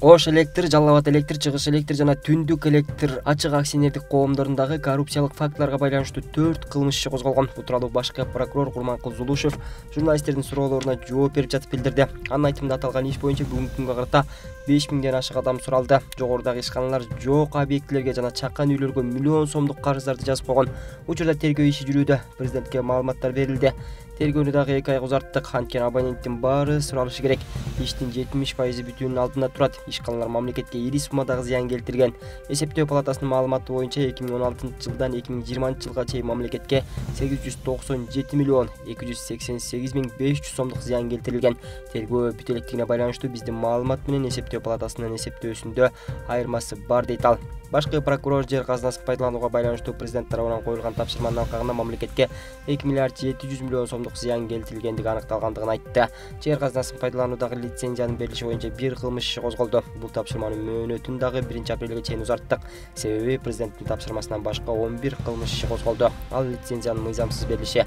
Ош электр, Жалал Абад электр, Чыгыш электр жана Түндүк электр ачык акционердик коомдорундагы коррупциялык фактыларга байланыштуу 4 кылмыш иши козголгон. Бул тууралуу башкы прокурор Курманкул Зулушев журналисттердин суроолоруна жооп берип жатып билдирди. Анын айтымында аталган иш боюнча бүгүнкү күнгө карата 5000ден ашык адам суралды. Жогорудагы ишканалар жок объектилерге жана чакан үйлөргө миллион сомдук карыздарды жазып койгон. Учурда тергөө иши жүрүүдө. Президентке маалыматтар берилди. Тергөөнү дагы 2 ай узарттык. Анткени абоненттин баары суралышы керек. Иштин 70% бүтүүнүн алдында турат. Ишканалар мамлекетке ири суммадагы зыян келтирген. Эсептөө палатасынын маалыматы боюнча 2016-жылдан 2020-жылга чейин мамлекетке 897 миллион 288 миң 500 сомдук зыян келтирилген. Тергөө бүтө электигине байланыштуу биздин маалымат менен эсептөө палатасынын эсептөөсүндө айырмасы бар дейт ал. Башкы прокурор жер казынасын пайдаланууга байланыштуу президент тарабынан коюлган тапшырманын алкагында мамлекетке 2 миллиард 700 миллион сомдук зыян келтирилгендиги аныкталгандыгын айтты. Жер казынасын пайдалануудагы лицензиянын берилиши боюнча 1 кылмыш иши козголду. Бул тапшырманын мөөнөтүн дагы 1-апрелге чейин узарттык. Себеби президенттин тапшырмасынан башка 11 кылмыш иши козголду. Ал лицензиянын мыйзамсыз берилиши,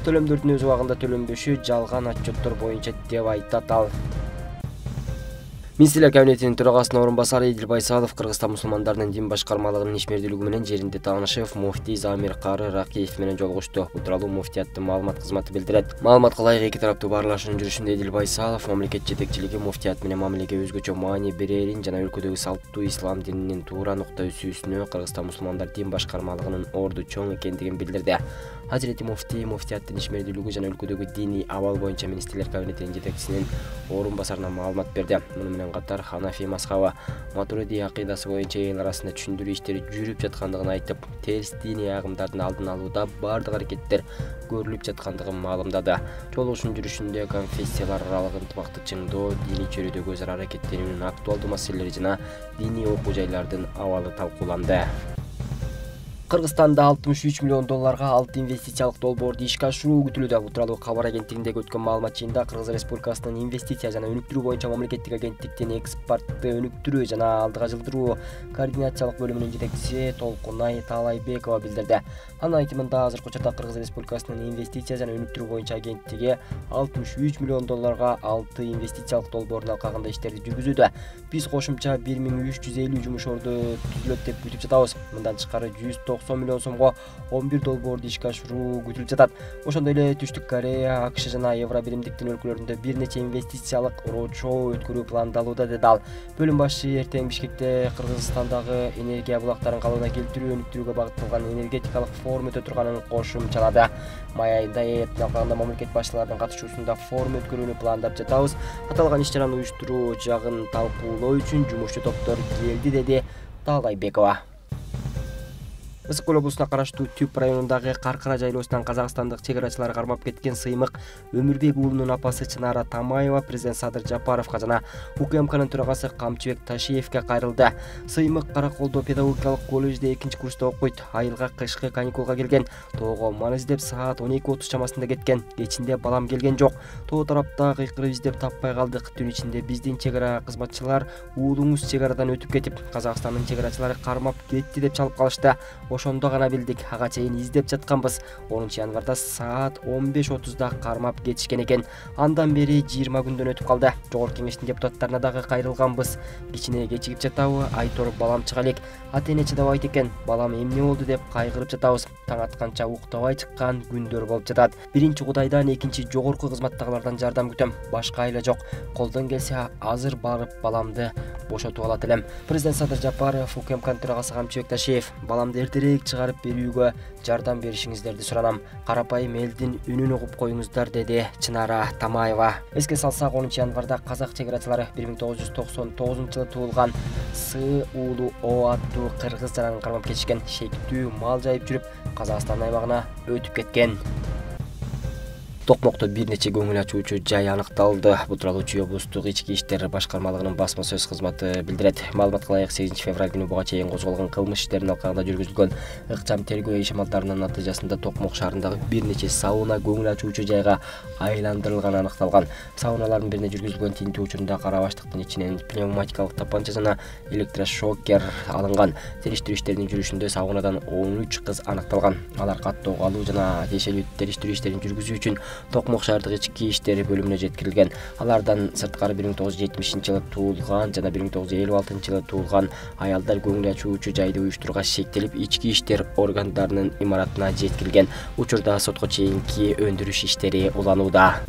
төлөмдөрдүн өз убагында төлөнбөшү, жалган отчеттор боюнча деп айтат ал. Министрлер кабинетинин төрагасынын орун басары Эдил Байсалов Кыргызстан мусулмандарынын дин башкармалыгынын ишмердүүлүгү менен жеринде таанышып, муфтий Замир Кары Ракиев менен жолугушту. Бул тууралуу муфтияттын маалымат кызматы билдирет. Маалыматка ылайык эки тараптуу баарлашуунун жүрүшүндө Эдил Байсалов мамлекет жетекчилиги муфтият менен мамилеге өзгөчө маани берерин жана өлкөдөгү салттуу ислам дининин туура нукта үзүүсүнө Кыргызстан мусулмандар дин башкармалыгынын орду чоң экендигин билдирди. Азирети муфтий муфтияттын ишмердүүлүгү жана өлкөдөгү диний абал боюнча Министрлер кабинетинин жетекчисинин орун басарына маалымат берди. Муну менен катар Ханафи мазхабы Матуриди акыйдасы боюнча эл арасында түшүндүрүү иштери жүрүп жаткандыгын айтып, терс диний агымдардын алдын алууда бардык аракеттер көрүлүп жаткандыгын маалымдады. Жолугушуунун жүрүшүндө конфессиялар аралык ынтымакты чыңдоо, диний чөйрөдөгү өз ара аракеттенүүнүн актуалдуу маселелери жана диний окуу жайлардын абалы талкууланды. Кыргызстанда 63 миллион долларга 6 инвестициялык долбоорду ишке ашыруу күтүлүүдө. Бул тууралуу Кабар агенттигиндеги өткөн маалымат жыйынында Кыргыз Республикасынын инвестиция жана өнүктүрүү боюнча мамлекеттик агенттиктин экспортты өнүктүрүү жана алдыга жылдыруу координациялык бөлүмүнүн жетекчиси Толкунай Таалайбекова билдирди. Анын айтымында азыркы учурда Кыргыз Республикасынын инвестиция жана өнүктүрүү боюнча агенттиги 63 миллион долларга 6 инвестициялык долбоордун алкагында иштерди жүргүзүүдө. Биз кошумча 1350 жумуш орду түзүлөт деп күтүп жатабыз. Мындан тышкары 190 миллион сомго 11 долбоорду ишке ашыруу күтүлүп жатат. Ошондой эле Түштүк Корея, АКШ жана Евро биримдиктин өлкөлөрүндө бир нече инвестициялык роудшоу өткөрүү пландалууда деди ал. Бөлүм башчы эртең Бишкекте Кыргызстандагы энергия булактарын калыбына келтирүү, өнүктүрүүгө багытталган энергетикалык форум өтө турганын кошумчалады. Май айында ЭЭптин алкагында мамлекет башчыларынын катышуусунда форум өткөрүүнү пландап жатабыз. Аталган иш-чараны уюштуруу жагын талкуулоо үчүн жумушчу топтор келди, деди Таалайбекова. Ысык көл облусуна караштуу Түп районундагы Каркара жайлоосунан казакстандык чек арачылар кармап кеткен Сыймык Өмүрбек уулунун апасы Чынара Тамаева президент Садыр Жапаровго жана УКМКнын төрагасы Камчыбек Ташиевке кайрылды. Сыймык Караколдо педагогикалык колледжде 2-курста окуйт. Айылга кышкы каникулга келген. Тоого мал издеп саат 12:30 чамасында кеткен. Кечинде балам келген жок. Тоо тарапта кыйкырып издеп таппай калдык. Түн ичинде биздин чек ара кызматчылар уулуңуз чек арадан өтүп кетип, Казакстандын чек арачылары кармап кетти деп чалып калышты. Ошондо гана билдик, ага чейин издеп жатканбыз. 10-январда саат 15:30да кармап кетишкен экен. Андан бери 20 күндөн өтүп калды. Жогорку кеңештин депутаттарына дагы кайрылганбыз. Кичине кечигип жатабы, айтор балам чыга элек. Ата-эне чыдабайт экен. Балам эмне болду деп кайгырып жатабыз. Таң атканча уктабай чыккан күндөр болуп жатат. Биринчи Кудайдан, экинчи жогорку кызматтагылардан жардам күтөм. Башка айла жок. Колдон келсе азыр барып баламды бошотуп алат элем. Президент Садыр Жапаров, УКМКнын төрагасы Камчыбек Ташиев, баламды эртерээк чыгарып берүүгө жардам беришиңиздерди суранам. Карапайым элдин үнүн угуп коюңуздар, деди Чынара Тамаева. Эске салсак, 10-январда казак чек арачылары 1999-жылы туулган Сы уулу О аттуу кыргыз жаранын кармап кетишкен. Шектүү мал жайып жүрүп, Казакстан аймагына өтүп кеткен. Токмокто бир нече көңүл ачуучу жай аныкталды. Бул тууралуу Чүй облустук ички иштер башкармалыгынын басма сөз кызматы билдирет. Маалыматка ылайык 8 февраль күнү буга чейин козголгон кылмыш иштеринин алкагында жүргүзүлгөн ыкчам тергөө ишмалдарынын натыйжасында Токмок шаарындагы бир нече сауна көңүл ачуучу жайга айландырылганы аныкталган. Сауналардын бирине жүргүзүлгөн тинтүү учурунда кара баштыктын ичинен пневматикалык тапанча жана электрошокер алынган. Териштирүү иштеринин жүрүшүндө саунадан 13 кыз аныкталган. Алар каттоо калуу жана тиешелүү териштирүү иштерин жүргүзүү үчүн Токмок шаардык ички иштер бөлүмүнө жеткирилген. Алардан сырткары 1970-жылы туулган жана 1956-жылы туулган аялдар көңүл ачуучу жайды уюштурууга шектелип, ички иштер органдарынын имаратына жеткирилген. Учурда сотко чейинки өндүрүш иштери уланууда.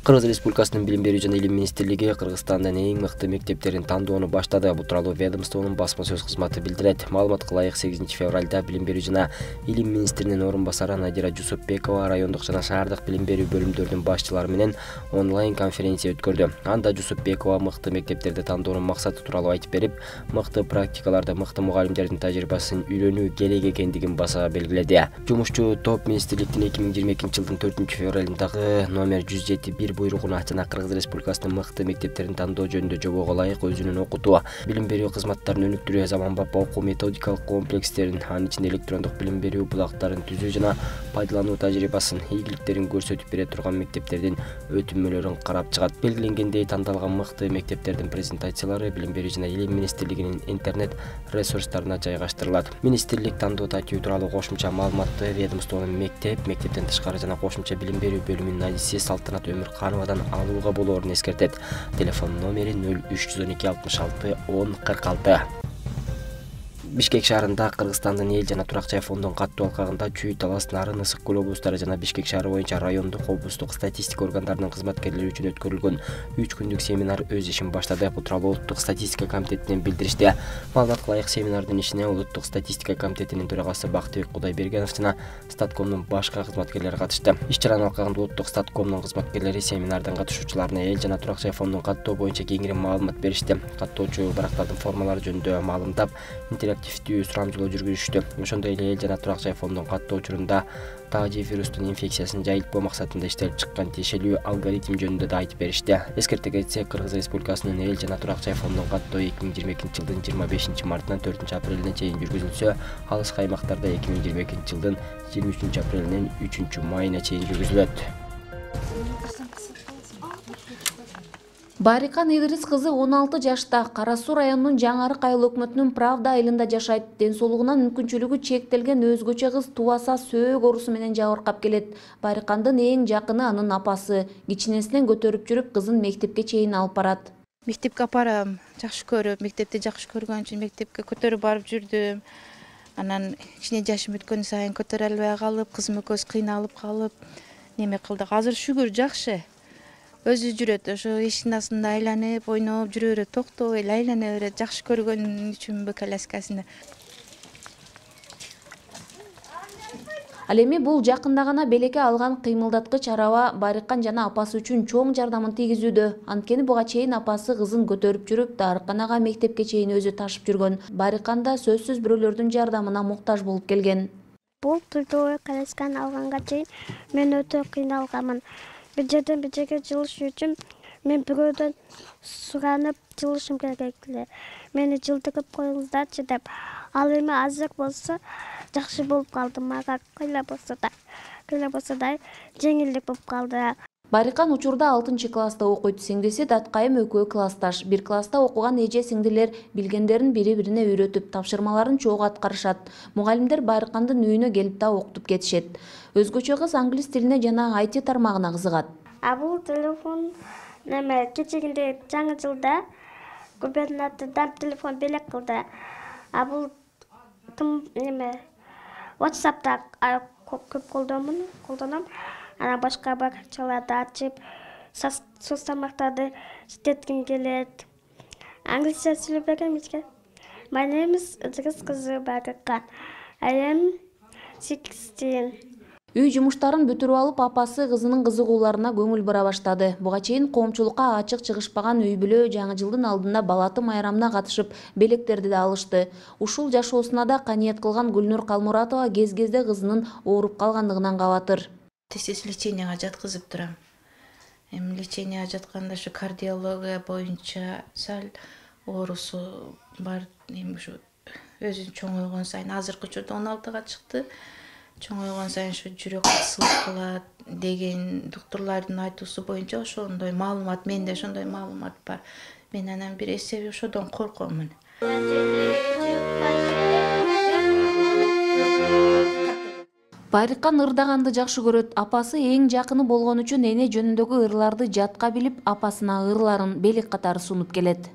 Кыргыз Республикасынын Билим берүү жана Илим министрлиги Кыргызстандын эң мыкты мектептерин тандоону баштады. Бул тууралуу ведомствонун басма сөз кызматы билдирет. Маалыматка ылайык 8 февралда Билим берүү жана Илим министринин орун басары Надира Жусупбекова райондук жана шаардык билим берүү бөлүмдөрүнүн башчылары менен онлайн конференция өткөрдү. Анда Жусупбекова мыкты мектептерди тандоонун максаты тууралуу айтып берип, мыкты практикаларды, мыкты мугалимдердин тажрыйбасын үйрөнүү керек экендигин баса белгиледи. Жумушчу топ министрликтин 2022-жылдын 4-февралындагы номер 107/1 буйругуна жана Кыргыз Республикасынын мыкты мектептерин тандоо жөнүндө жобого ылайык өзүнүн окутуу, билим берүү кызматтарын өнүктүрүү, заманбап окуу методикалык комплекстерин, анын ичинде электрондук билим берүү булактарын түзүү жана пайдалануу тажрыйбасын, ийгиликтерин көрсөтүп бере турган мектептердин өтүнмөлөрүн карап чыгат. Белгиленгендей, тандалган мыкты мектептердин презентациялары Билим берүү жана Илим министрлигинин интернет ресурстарына жайгаштырылат. Министрлик тандоо тартиби тууралуу кошумча маалыматты ведомствонун мектептен тышкары жана кошумча билим берүү бөлүмүнүн адиси Салтанат Өмүркановадан алууга болоорун эскертет. Телефон номери 0312 66 10 46. Бишкек шаарында Кыргызстандын эл жана турак жай фондунун каттуу алкагында Чүй, Талас, Нарын, Ысык көл облустары жана Бишкек шаары боюнча райондук, облустук статистика органдарынын кызматкерлери үчүн өткөрүлгөн 3 күндүк семинар өз ишин баштады. Бул тууралуу Улуттук статистика комитетинен билдиришти. Маалыматка ылайык, семинардын ишине Улуттук статистика комитетинин төрагасы Бактыбек Кудайбергенов жана Статкомдун башка кызматкерлери катышты. Иш-чаранын алкагында Улуттук статкомдун кызматкерлери семинардын катышуучуларына эл жана турак жай фондунун каттоо боюнча кеңири маалымат беришти. Каттоочу барактардын формалары жөнүндө маалымдап, интерактивдүү сурамжылоо жүргүзүштү. Ошондой эле эл жана турак жай фондунун каттоо учурунда тажи вирустун инфекциясын жайылтпоо максатында иштелип чыккан тиешелүү алгоритм жөнүндө да айтып беришти. Эскерте кетсек, Кыргыз Республикасынын эл жана турак жай фондунун каттоо 2022-жылдын 25-мартынан 4-апрелине чейин жүргүзүлсө, алыскы аймактарда 2022-жылдын 23-апрелинен 3-майына чейин жүргүзүлөт. Барикан Идрис кызы 16 жашта, Кара Суу районунун Жаңы Арык айыл өкмөтүнүн Правда айылында жашайт. Ден соолугунан мүмкүнчүлүгү чектелген өзгөчө кыз тубаса сөөк оорусу менен жабыркап келет. Барикандын эң жакыны анын апасы. Кичинесинен көтөрүп жүрүп, кызын мектепке чейин алып барат. Мектепке апарам, жакшы көрүп, мектепти жакшы көргөн үчүн мектепке көтөрүп барып жүрдүм. Анан кичине жашым өткөн сайын көтөрө албай калып, кызым экөөбүз кыйналып калып, неме кылдык. Азыр шүгүр жакшы. Өзү жүрөт, ошо эшиктин астында айланып, ойноп жүрө берет, токтобой эле айлана берет. Жакшы көргөн үчүнбү коляскасында. Ал эми бул жакында гана белекке алган кыймылдаткыч араба Барикан жана апасы үчүн чоң жардамын тийгизүүдө. Анткени буга чейин апасы кызын көтөрүп жүрүп, дарыканага, мектепке чейин өзү ташып жүргөн. Барикан да сөзсүз бирөөлөрдүн жардамына муктаж болуп келген. Бул тылдуу колясканы алганга чейин мен өтө кыйналганмын. Bir жерден bir жерге жылыш үчүн мен бирөөдөн суранып жылышым керек эле. Мени жылдырып коюңуздарчы деп. Ал эми азыр болсо жакшы болуп калды. Мага кыйла болсо да жеңилдик болуп калды. Барикан учурда 6-класста окуйт. Сиңдиси Даткайым экөө классташ. Бир класста окуган эже сиңдилер билгендерин бири-бирине үйрөтүп, тапшырмаларын чогуу аткарышат. Мугалимдер Барикандын үйүнө келип да окутуп кетишет. Өзгөчө кыз англис тилине жана IT тармагына кызыгат. Бул телефон неме кечигинде жаңы жылда губернатордан телефон белек кылды. Бул неме WhatsApp'та көп колдоном. Ана башка баракчаларды ачып, соцтармактарды иштетким келет. Англисче сүйлөп бергем эчке. My name is Idris кызы Барикан. I am 16. Үй жумуштарын бүтүрүп алып, апасы кызынын кызыгууларына көңүл бура баштады. Буга чейин коомчулукка ачык чыгышпаган үй бүлө жаңы жылдын алдында балаты майрамына катышып, белектерди да алышты. Ушул жашоосуна да каниет кылган Гүлнур Калмуратова кез-кезде кызынын ооруп калгандыгынан кабатыр. Тез леченияга жаткызып турам. Леченияга жатканда ушу кардиология боюнча сал оорусу бар. Ушу өзүн чоңойгон сайын азыркы учурда 16-га чыкты. Чоңойгон сайын ушу жүрөк кысылып калат деген доктурлардын айтуусу боюнча ошондой маалымат, менде ошондой маалымат бар. Мен анан бир эсеби ошодон коркомун. Байрыккан ырдаганды жакшы көрөт. Апасы эң жакыны болгон үчүн эне жөнүндөгү ырларды жатка билип, апасына ырларын белек катары сунуп келет.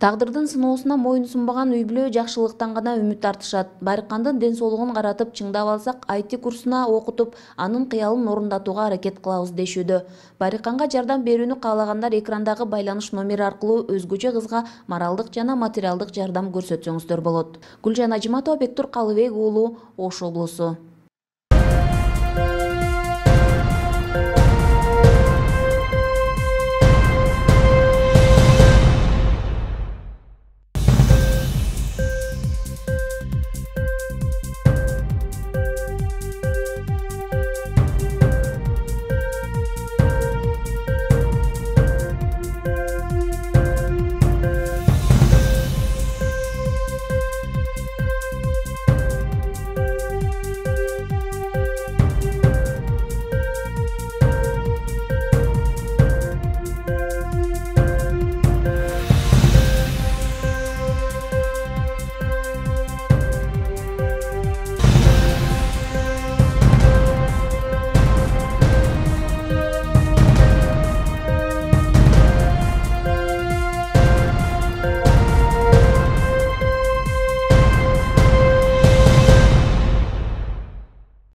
Тагдырдын сыноосуна моюн сунбаган үй бүлө жакшылыктан гана үмүт артышат. Байрыккандын ден соолугун каратып, чыңдап алсак, IT курсуна окутуп, анын кыялын орундатууга аракет кылабыз дешүүдө. Байрыкканга жардам берүүнү каалагандар экрандагы байланыш номери аркылуу өзгөчө кызга моралдык жана материалдык жардам көрсөтсөңүздөр болот. Гүлжан Ажиматова, Бектур Калыбек уулу, Ош облусу.